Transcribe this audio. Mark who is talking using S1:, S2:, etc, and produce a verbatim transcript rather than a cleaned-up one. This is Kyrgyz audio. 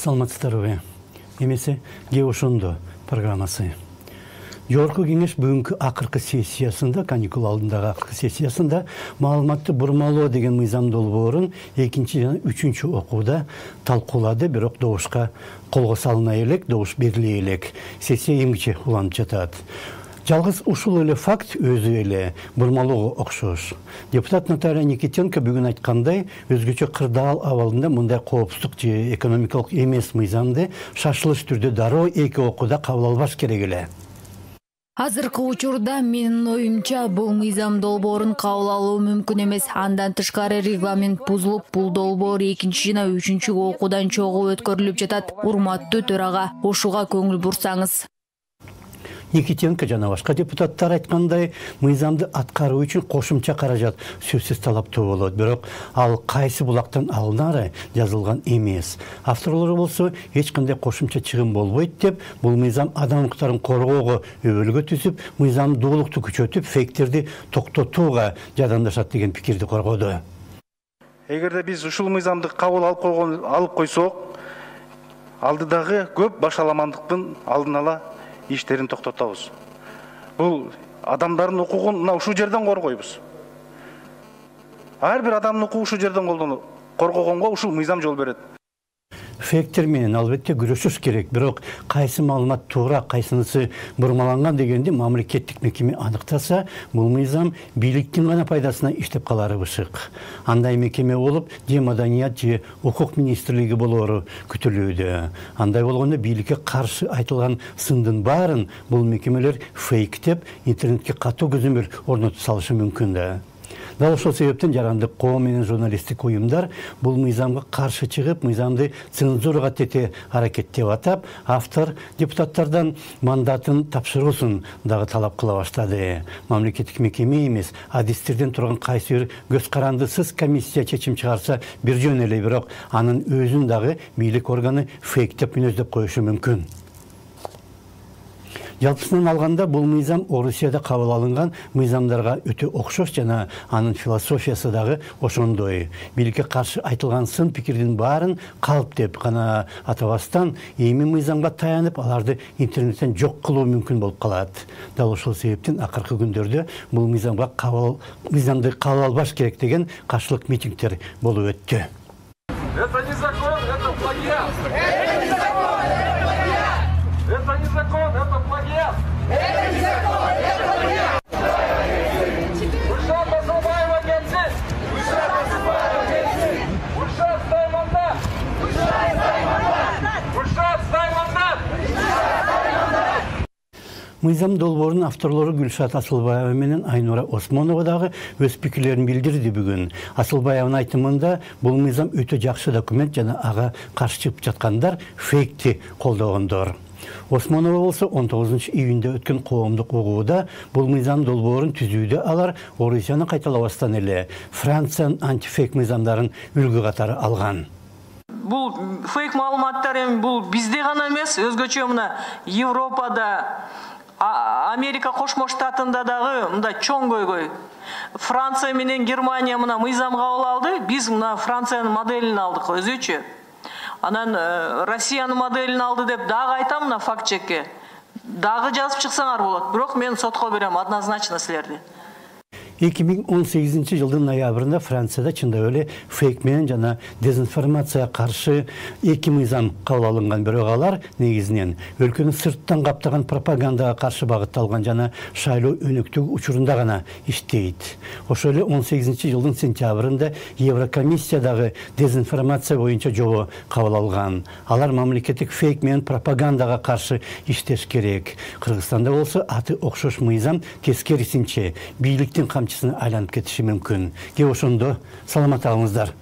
S1: Саламатсыздарбы? Эмесе же ошондо программасы. Жогорку кеңеш бүгүнкү акыркы сессиясында, каникул алдындагы акыркы сессиясында маалыматты бурмалоо деген мыйзам долбоорун экинчи жана үчүнчү окууда талкуулады, бирок добушка колго салына элек, добуш бериле элек. Сессия эмгиче уланып жатат. Жалгыз ушул эле факт өзү эле бурмалоого окшош. Депутат Наталья Никитенко бүгүн айткандай, өзгөчө кырдаал абалында мындай коопсуздук же экономикалык эмес мыйзамды шашылыш түрдө дароо эки окууда кабыл албаш керек эле.
S2: Азыркы учурда менин оюмча бул мыйзам долбоорун кабыл алуу мүмкүн эмес. Андан тышкары регламент бузулуп, бул долбоор экинчи жана үчүнчү окуудан чогуу өткөрүлүп жатат. Урматтуу төрага, ушуга көңүл бурсаңыз.
S1: Никитенко жана башка депутаттар айткандай, мыйзамды аткаруу үчүн кошумча каражат сөзсүз талаптуу болот, бирок ал кайсы булактан алынары жазылган эмес. Авторлору болсо эч кандай кошумча чыгым болбойт деп, бул мыйзам адам укуктарын коргоого өбөлгө түзүп, мыйзамдуулукту күчөтүп, фейктерди токтотууга жардамдашат деген пикирди коргоду.
S3: Эгерде биз ушул мыйзамды кабыл алып койгон алып койсок, алдыдагы көп башаламандыктын алдын ала иштерин токтотобуз. Бул адамдардын укугун мына ушул жерден коргойбуз. Ар бир адамдын укугу ушул жерден коргогонго ушул мыйзам жол берет.
S1: Фейктер менен албетте күрөшүш керек, бирок кайсы маалымат туура, кайсынысы бурмаланган дегенди мамлекеттик мекеме аныктаса, бул мыйзам бийликтин гана пайдасына иштеп калары бышык. Андай мекеме болуп, же маданият же укук министрлиги болоору күтүлүүдө. Андай болгондо бийликке каршы айтылган сындын баарын бул мекемелер фейк деп интернетке катуу көзөмөл орнотуп салышы мүмкүн да. Дал ошол себептен жарандык коом менен журналисттик уюмдар бул мыйзамга каршы чыгып, мыйзамды цензурага тете аракеттеп атап, автор депутаттардан мандатын тапшыруусун дагы талап кыла баштады. Мамлекеттик мекеме эмес, адистерден турган кайсы бир көз карандысыз комиссия чечим чыгарса бир жөн эле, бирок анын өзүн дагы бийлик органы фейктеп мүнөздөп коюшу мүмкүн. Жалпысынан алганда бул мыйзам Орусияда кабыл алынган мыйзамдарга өтө окшош жана анын философиясы дагы ошондой. Бийликке каршы айтылган сын пикирдин баарын калп деп гана атабастан, эми мыйзамга таянып, аларды интернеттен жок кылуу мүмкүн болуп калат. Дал ошол себептен акыркы күндөрдө бул мыйзамга кабыл мыйзамды кабыл албаш керек деген каршылык митингдер болуп өттү.
S4: Это не закон, это плагиат. Это не закон, это плагиат. Это не закон, это плагиат. Это не закон, это плагиат. Ушат Назарбаева генсиз. Ушат Назарбаева генсиз. Ушат стай мандат. Ушат стай мандат. Ушат стай мандат. Ушат стай мандат.
S1: Мыйзам долбоорунун авторлору Гүлшат Асылбаева менен Айнура Осмонова дагы өз пикирлерин билдирди бүгүн. Асылбаеванын айтымында бул мыйзам өтө жакшы документ жана ага каршы чыгып жаткандар фейкти колдогондор. Осмонова болсо он тогузунчу июнда өткөн коомдук угууда бул мыйзам долбоорун түзүүдө алар Орусияны кайталабастан эле Франциянын антифейк мыйзамдарын үлгү катары алган.
S5: Бул фейк маалыматтар эми бул бизде гана эмес, өзгөчө мына Европада, Америка Кошмо Штатында дагы мындай чоң көйгөй. Франция менен Германия мына мыйзам кабыл алды, биз мына Франциянын моделин алдык өзүчө. Анан Россиянын моделин алды деп дагы айтам мына факт чекке. Дагы жазып чыксаңар болот, бирок мен сотко берем однозначно силерди.
S1: эки миң он сегизинчи жылдын ноябрында Францияда чындап эле фейк менен жана дезинформацияга каршы эки мыйзам кабыл алынган, бирок алар негизинен өлкөнү сырттан каптаган пропагандага каршы багытталган жана шайлоо өнөктүгү учурунда гана иштейт. Ошол эле он сегизинчи жылдын сентябрында Еврокомиссиядагы дезинформация боюнча жобо кабыл алган. Алар мамлекеттик фейк менен пропагандага каршы иштеш керек. Кыргызстанда болсо аты окшош мыйзам тескерисинче бийликтин камчысына айланып кетиши мүмкүн. Ке ошондо саламат алыңыздар.